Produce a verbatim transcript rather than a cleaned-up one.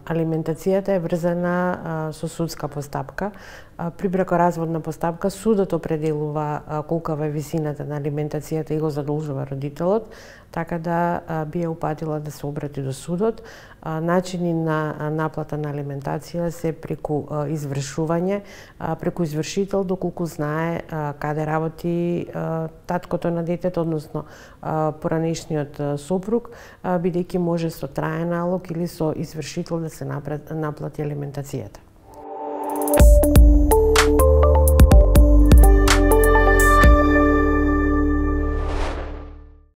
Алиментацијата е врзана со судска постапка. При бракоразводна постапка судот определува колкава е висината на алиментацијата и го задолжува родителот, така да би ја упатила да се обрати до судот. Начини на наплата на алиментација се преку извршување, преку извршител доколку знае каде работи таткото на детето, односно поранешниот сопруг, бидејќи може со траен налог или со извршител да се наплати алиментацијата.